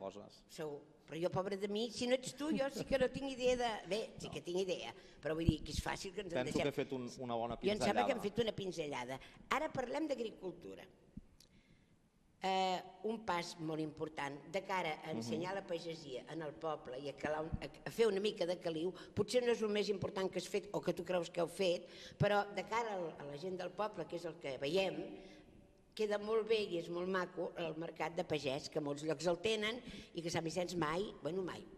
coses. Segur. Però jo, pobre de mi, si no ets tu, jo sí que no tinc idea de... Bé, sí que tinc idea, però vull dir que és fàcil que ens en deixem. Penso que he fet una bona pinzellada. Jo em sembla que hem fet una pinzellada. Ara parlem d'agricultura. Un pas molt important de cara a ensenyar la pagesia en el poble i a fer una mica de caliu. Potser no és el més important que has fet o que tu creus que heu fet, però de cara a la gent del poble, que és el que veiem, queda molt bé i és molt maco el mercat de pagès, que molts llocs el tenen i que Sant Vicenç mai,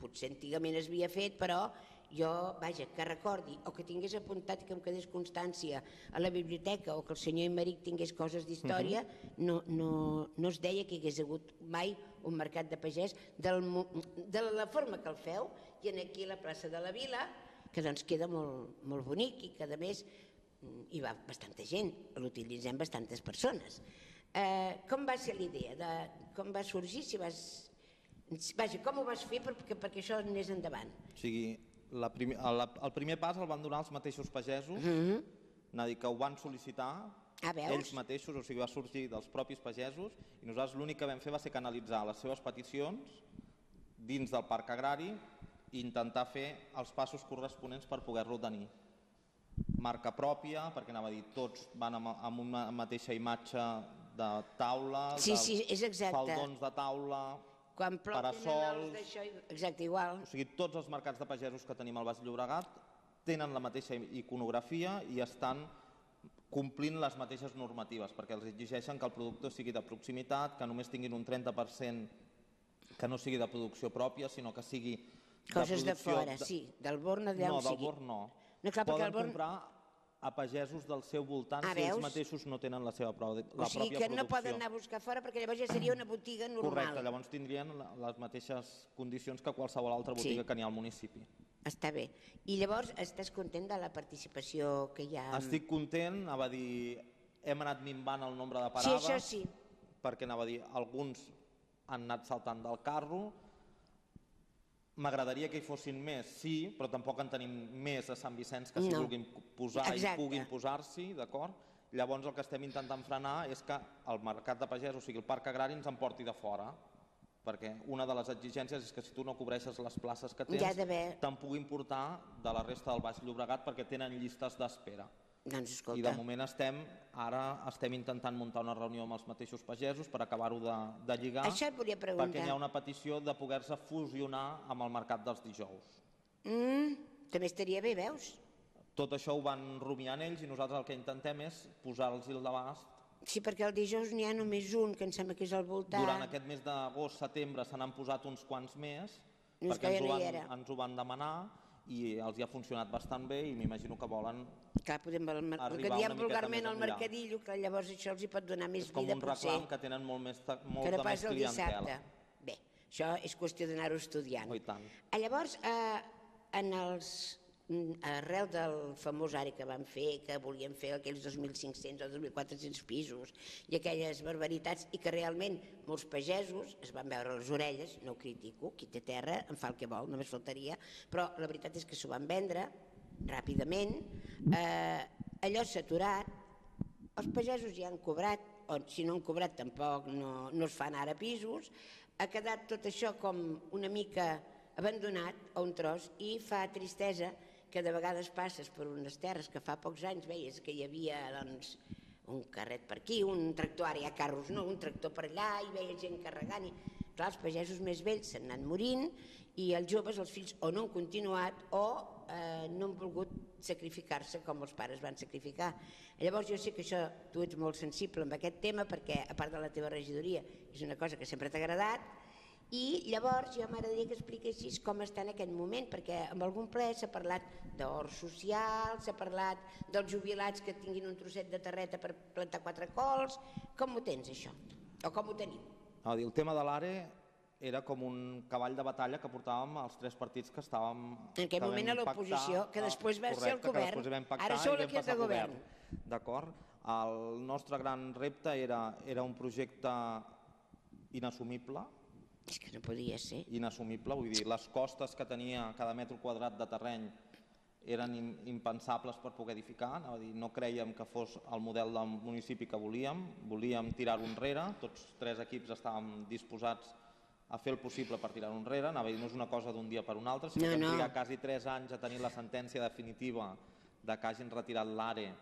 potser antigament es havia fet, però jo, vaja, que recordi o que tingués apuntat i que em quedés constància a la biblioteca o que el senyor Emeric tingués coses d'història, no es deia que hi hagués hagut mai un mercat de pagès de la forma que el feu i aquí a la plaça de la Vila, que doncs queda molt bonic i que a més hi va bastanta gent, l'utilitzem bastantes persones. Com va ser l'idea? Com va sorgir? Vaja, com ho vas fer perquè això anés endavant? O sigui, el primer pas el van donar els mateixos pagesos, que ho van sol·licitar ells mateixos, o sigui, va sorgir dels propis pagesos i nosaltres l'únic que vam fer va ser canalitzar les seves peticions dins del parc agrari i intentar fer els passos corresponents per poder-lo tenir. Marca pròpia, perquè anava a dir, tots van amb una mateixa imatge de taula, faldons de taula, parasols... Exacte, igual. O sigui, tots els mercats de pagesos que tenim al Baix Llobregat tenen la mateixa iconografia i estan complint les mateixes normatives, perquè els exigeixen que el producte sigui de proximitat, que només tinguin un 30% que no sigui de producció pròpia, sinó que sigui de producció... Coses de fora, sí, del Born d'allà on sigui. No, del Born no. Poden comprar a pagesos del seu voltant si ells mateixos no tenen la pròpia producció. O sigui que no poden anar a buscar fora perquè llavors ja seria una botiga normal. Correcte, llavors tindrien les mateixes condicions que qualsevol altra botiga que n'hi ha al municipi. Està bé. I llavors estàs content de la participació que hi ha? Estic content, anava a dir, hem anat minvant el nombre de parades. Sí, això sí. Perquè anava a dir, alguns han anat saltant del carro. M'agradaria que hi fossin més, sí, però tampoc en tenim més a Sant Vicenç que s'hi vulguin posar i puguin posar-s'hi, d'acord? Llavors el que estem intentant frenar és que el mercat de pagès, o sigui el parc agrari, ens en porti de fora, perquè una de les exigències és que si tu no cobreixes les places que tens, te'n puguin portar de la resta del Baix Llobregat perquè tenen llistes d'espera. I de moment estem intentant muntar una reunió amb els mateixos pagesos per acabar-ho de lligar, perquè hi ha una petició de poder-se fusionar amb el mercat dels dijous. També estaria bé, veus? Tot això ho van rumiant ells i nosaltres el que intentem és posar-los al d'abast. Sí, perquè el dijous n'hi ha només un, que em sembla que és al voltant. Durant aquest mes d'agost-setembre se n'han posat uns quants més, perquè ens ho van demanar, i els hi ha funcionat bastant bé i m'imagino que volen arribar una miqueta més enllà. El que diem vulgarment al mercadillo, que llavors això els hi pot donar més vida, potser. És com un reclam que tenen molta més clientela. Bé, això és qüestió d'anar-ho estudiant. Oh, i tant. Llavors, arrel del famós ARE que van fer, que volien fer aquells 2.500 o 2.400 pisos i aquelles barbaritats, i que realment molts pagesos es van veure les orelles, no ho critico, qui té terra en fa el que vol, només faltaria, però la veritat és que s'ho van vendre ràpidament, allò s'ha aturat, els pagesos ja han cobrat, o si no han cobrat tampoc no es fan ara pisos, ha quedat tot això com una mica abandonat a un tros i fa tristesa que de vegades passes per unes terres que fa pocs anys veies que hi havia un carret per aquí, un tractor, ara hi ha carros, no, un tractor per allà i veies gent carregant i clar, els pagesos més vells s'han anat morint i els joves, els fills, o no han continuat o no han volgut sacrificar-se com els pares van sacrificar. Llavors jo sé que això tu ets molt sensible amb aquest tema perquè a part de la teva regidoria és una cosa que sempre t'ha agradat. I llavors jo m'agradaria que expliquessis com està en aquest moment, perquè en algun ple s'ha parlat d'hort social, s'ha parlat dels jubilats que tinguin un trosset de terreta per plantar 4 cols. Com ho tens, això? O com ho tenim? El tema de l'ARE era com un cavall de batalla que portàvem els 3 partits que estàvem... En aquell moment a l'oposició, que després va ser el govern. Ara sou l'equip de govern. D'acord. El nostre gran repte era un projecte inassumible. És que no podia ser. Inassumible, vull dir, les costes que tenia cada metre quadrat de terreny eren impensables per poder edificar, no crèiem que fos el model del municipi que volíem tirar-ho enrere, tots 3 equips estàvem disposats a fer el possible per tirar-ho enrere. Anava a dir, no és una cosa d'un dia per un altre, sinó que hem trigat quasi 3 anys a tenir la sentència definitiva de que hagin retirat l'ARE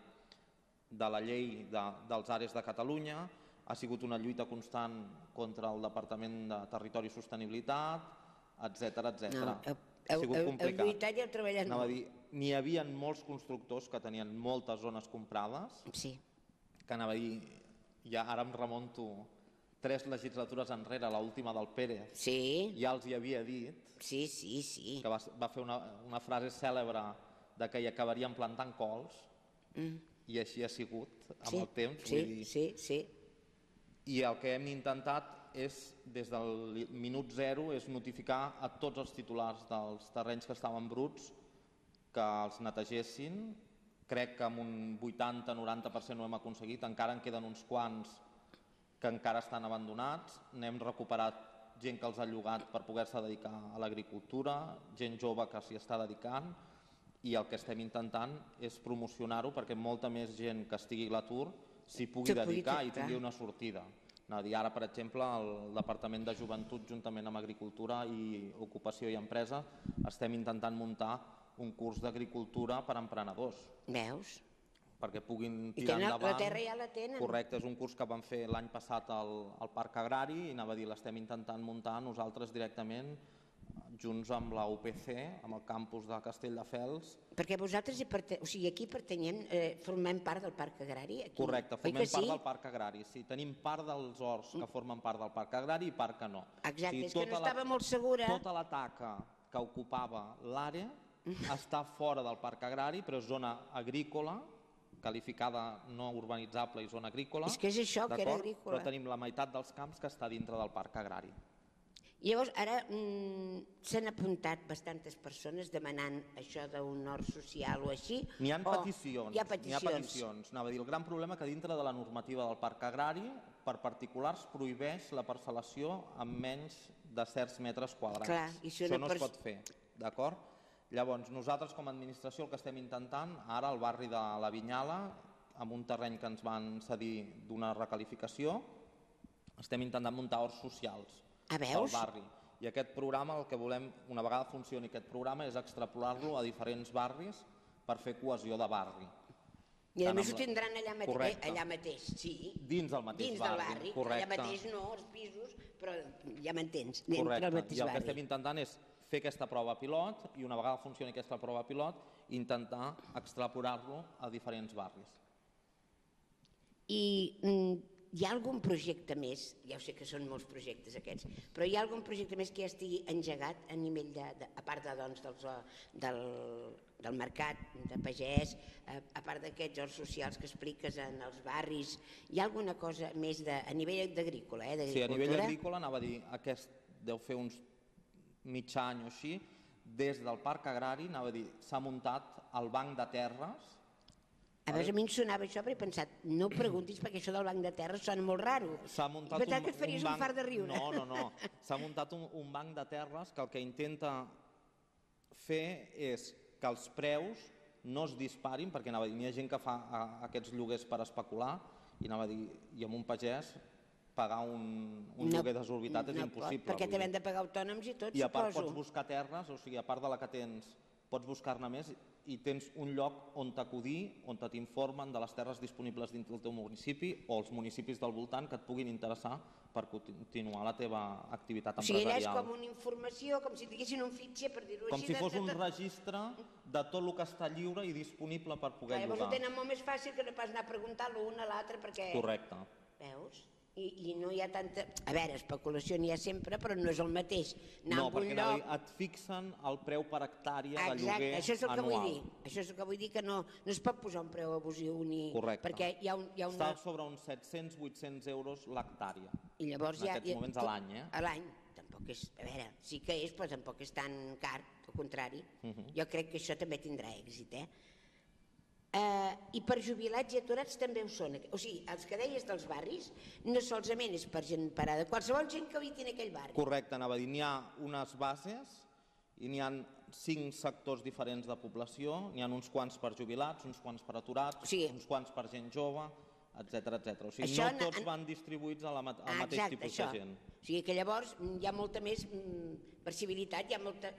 de la llei dels AREs de Catalunya. Ha sigut una lluita constant contra el Departament de Territori i Sostenibilitat, etcètera. Ha sigut complicat. Heu lluitat i heu treballat Anava a molt. dir, n'hi havia molts constructors que tenien moltes zones comprades, que anava a dir, ja ara em remunto 3 legislatures enrere, l'última del Pérez, ja els hi havia dit que va fer una frase cèlebre de que hi acabarien plantant cols, i així ha sigut amb el temps. I el que hem intentat és, des del minut zero, és notificar a tots els titulars dels terrenys que estaven bruts que els netegessin. Crec que amb un 80-90% ho hem aconseguit, encara en queden uns quants que encara estan abandonats. N'hem recuperat gent que els ha llogat per poder-se dedicar a l'agricultura, gent jove que s'hi està dedicant, i el que estem intentant és promocionar-ho perquè molta més gent que estigui a l'atur s'hi pugui dedicar i tingui una sortida. Ara, per exemple, el Departament de Joventut, juntament amb Agricultura i Ocupació i Empresa, estem intentant muntar un curs d'agricultura per a emprenedors. Veus? Perquè puguin tirar endavant. La terra ja la tenen. Correcte, és un curs que vam fer l'any passat al Parc Agrari i anava a dir, l'estem intentant muntar nosaltres directament, junts amb la UPC, amb el campus de Castelldefels. Perquè vosaltres aquí pertanyem, formem part del Parc Agrari? Correcte, formem part del Parc Agrari, sí. Tenim part dels horts que formen part del Parc Agrari i part que no. Exacte, és que no estava molt segura. Tota la taca que ocupava l'àrea està fora del Parc Agrari, però és zona agrícola, qualificada no urbanitzable i zona agrícola. És que és això, que era agrícola. Però tenim la meitat dels camps que està dintre del Parc Agrari. Llavors, ara s'han apuntat bastantes persones demanant això d'un hort social o així? N'hi ha peticions. Anava a dir, el gran problema que dintre de la normativa del Parc Agrari, per particulars, prohibeix la parcel·lació amb menys de certs metres quadrats. Això no es pot fer, d'acord? Llavors, nosaltres com a administració el que estem intentant, ara al barri de la Vinyala, amb un terreny que ens van cedir d'una requalificació, estem intentant muntar horts socials al barri. I aquest programa, el que volem, una vegada funcioni aquest programa, és extrapolar-lo a diferents barris per fer cohesió de barri. I a més ho tindran allà mateix, sí. Dins del mateix barri, correcte. Allà mateix no, els pisos, però ja m'entens, dintre del mateix barri. I el que estem intentant és fer aquesta prova pilot i una vegada funcioni aquesta prova pilot, intentar extrapolar-lo a diferents barris. I hi ha algun projecte més, ja ho sé que són molts projectes aquests, però hi ha algun projecte més que ja estigui engegat a nivell a part del mercat de pagès, a part d'aquests horts socials que expliques en els barris, hi ha alguna cosa més a nivell d'agrícola? Sí, a nivell agrícola, anava a dir, aquest deu fer uns mig any o així, des del Parc Agrari, anava a dir, s'ha muntat el banc de terres. A mi em sonava això, però he pensat, no ho preguntis perquè això del banc de terres sona molt raro. S'ha muntat que et faries un fart de riure. No. S'ha muntat un banc de terres que el que intenta fer és que els preus no es disparin, perquè n'hi ha gent que fa aquests lloguers per especular i amb un pagès pagar un lloguer desorbitat és impossible. Perquè t'hem de pagar autònoms i tot, suposo. I a part pots buscar terres, o sigui, a part de la que tens, pots buscar-ne més i tens un lloc on t'acudir, on t'informen de les terres disponibles dins del teu municipi o els municipis del voltant que et puguin interessar per continuar la teva activitat empresarial. O sigui, allà és com una informació, com si tinguessin un fitxer, per dir-ho així. Com si fos un registre de tot el que està lliure i disponible per poder llogar. Llavors ho tenen molt més fàcil que no pas anar a preguntar l'un a l'altre perquè... Correcte. Veus? I no hi ha tanta... A veure, especulació n'hi ha sempre, però no és el mateix. No, perquè et fixen el preu per hectàrea de lloguer anual. Això és el que vull dir. Això és el que vull dir, que no es pot posar un preu abusiu ni... Correcte. Perquè hi ha una... Està sobre uns 700-800 euros l'hectàrea. I llavors en aquests moments a l'any, A l'any. Tampoc és... A veure, sí que és, però tampoc és tan car, al contrari. Jo crec que això també tindrà èxit, I per jubilats i aturats també ho són. O sigui, els que deies dels barris no solament és per gent parada, qualsevol gent que habiti en aquell barri. Correcte, anava a dir, n'hi ha unes bases i n'hi ha 5 sectors diferents de població, n'hi ha uns quants per jubilats, uns quants per aturats, uns quants per gent jove, etcètera. O sigui, no tots van distribuïts al mateix tipus de gent. sigui que llavors hi ha molta més possibilitat,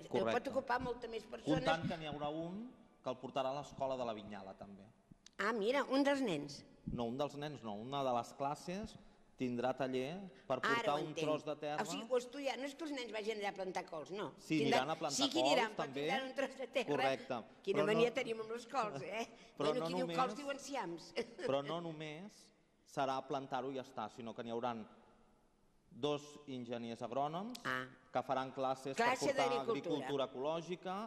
pot ocupar molta més persones. Comptant que n'hi haurà un que el portarà a l'escola de la Vinyala, també. Ah, mira, un dels nens. No, un dels nens no, una de les classes tindrà taller per portar un tros de terra. O sigui, o estudiar, no és que els nens vagin allà a plantar cols, no. Sí, aniran a plantar cols, també. Tindran un tros de terra. Correcte. Quina mania tenim amb les cols, eh? Bueno, qui diu cols diu enciams. Però no només serà plantar-ho i ja està, sinó que n'hi haurà 2 enginyers agrònoms que faran classes per portar agricultura ecològica,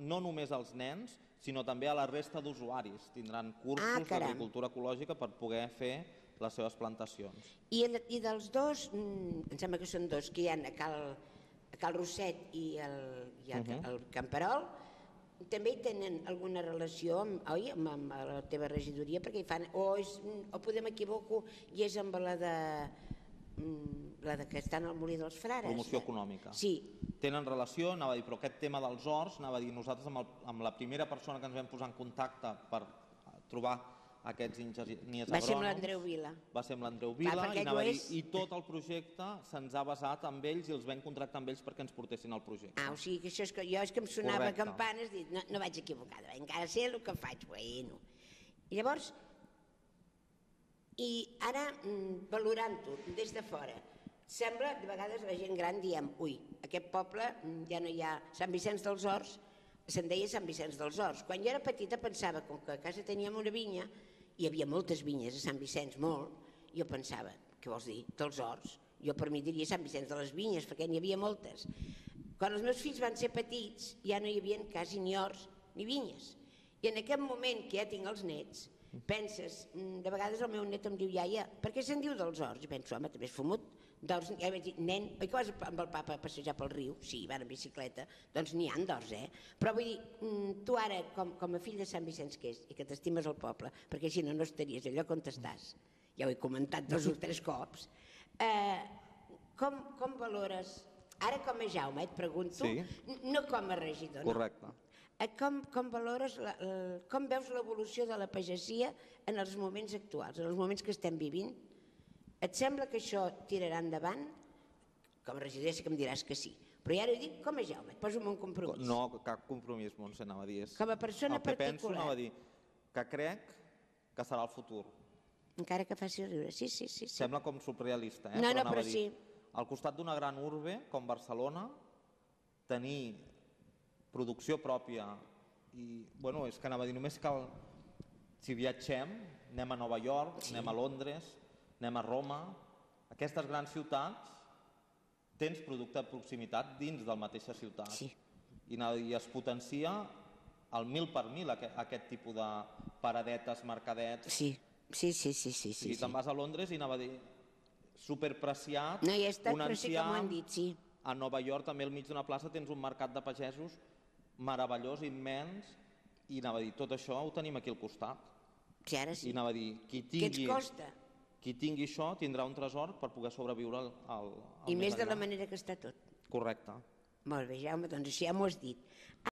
no només als nens, sinó també a la resta d'usuaris. Tindran cursos d'agricultura ecològica per poder fer les seves plantacions. I dels dos, em sembla que són 2, que hi ha a Cal Rosset i al Camperol, també hi tenen alguna relació, oi, amb la teva regidoria, perquè hi fan, o podem equivoco, i és amb la que està al Molí dels Frares. Promoció econòmica. Sí. Tenen relació, anava a dir, però aquest tema dels horts, anava a dir, nosaltres amb la primera persona que ens vam posar en contacte per trobar aquests enginyers agrònoms... Va ser amb l'Andreu Vila. Va ser amb l'Andreu Vila, i tot el projecte se'ns ha basat amb ells i els vam contractar amb ells perquè ens portessin el projecte. O sigui que això és que jo em sonava campanes, dic, no vaig equivocada, encara sé el que faig, bueno. I llavors, i ara, valorant-ho des de fora, sembla, de vegades la gent gran diem, ui, aquest poble ja no hi ha Sant Vicenç dels Horts, se'n deia Sant Vicenç dels Horts. Quan jo era petita pensava, com que a casa teníem una vinya, hi havia moltes vinyes a Sant Vicenç, molt, jo pensava, què vols dir, dels horts? Jo per mi diria Sant Vicenç de les Vinyes, perquè n'hi havia moltes. Quan els meus fills van ser petits, ja no hi havia quasi ni horts ni vinyes. I en aquest moment que ja tinc els nets, penses, de vegades el meu net em diu, iaia, per què se'n diu dels horts? I penso, home, també és fumut. Ja vaig dir, nen, oi que vas amb el papa a passejar pel riu? Sí, van en bicicleta. Doncs n'hi ha d'horts, eh? Però vull dir, tu ara, com a fill de Sant Vicenç que és, i que t'estimes el poble, perquè si no, no estaries allò on estàs, ja ho he comentat 2 o 3 cops, com valores, ara com a Jaume, et pregunto, no com a regidor, no? Correcte. Com valores, com veus l'evolució de la pagesia en els moments actuals, en els moments que estem vivint? Et sembla que això tirarà endavant? Com a regidor sí que em diràs que sí. Però ja ho dic com a Jaume, et poso un compromís. No, cap compromís, Montse, anava a dir. Com a persona particular. El que penso, anava a dir, que crec que serà el futur. Encara que faci riure, sí. Sembla com surrealista, eh? No, però sí. Al costat d'una gran urbe, com Barcelona, tenir producció pròpia i, bueno, és que anava a dir, només cal, si viatgem, anem a Nova York, anem a Londres, anem a Roma, aquestes grans ciutats, tens producte de proximitat dins de la mateixa ciutat. I es potencia al 1000 per 1000 aquest tipus de paradetes, mercadets. Sí. I te'n vas a Londres i anava a dir, superpreciat, no, ja està, però sí que m'ho han dit, sí. A Nova York, també al mig d'una plaça, tens un mercat de pagesos meravellós, immens, i anava a dir, tot això ho tenim aquí al costat. Sí, ara sí. I anava a dir, qui tingui això tindrà un tresor per poder sobreviure al I més de la manera que està tot. Correcte. Molt bé, Jaume, doncs així ja m'ho has dit.